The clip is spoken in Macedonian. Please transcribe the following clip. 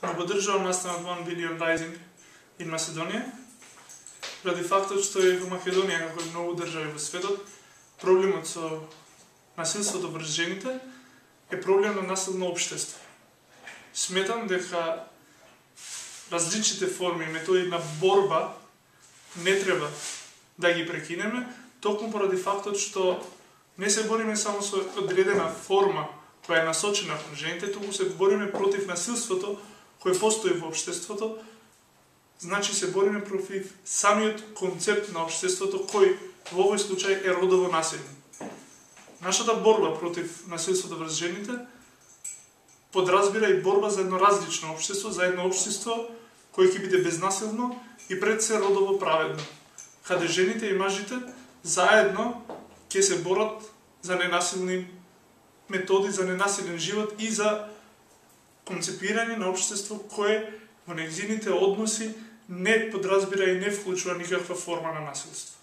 Го поддржувам настанот One Billion Rising in Macedonија, ради фактот што и во Македонија, како и многу држави во светот, проблемот со насилството врз жените е проблем на насилно општество. Сметам дека различните форми и методи на борба не треба да ги прекинеме, токму поради фактот што не се бориме само со одредена форма која е насочена кон жените, туку се бориме против насилството кој постои во општеството, значи се бориме против самиот концепт на општеството кој во овој случај е родово насилие. Нашата борба против насилството врз жените подразбира и борба за едно различно општество, за едно општество кој ќе биде безнасилно и пред се родово праведно, каде жените и мажите заедно ќе се борат за ненасилни методи, за ненасилен живот и за концепирање на општество кое во нејзините односи не подразбира и не вклучува никаква форма на насилство.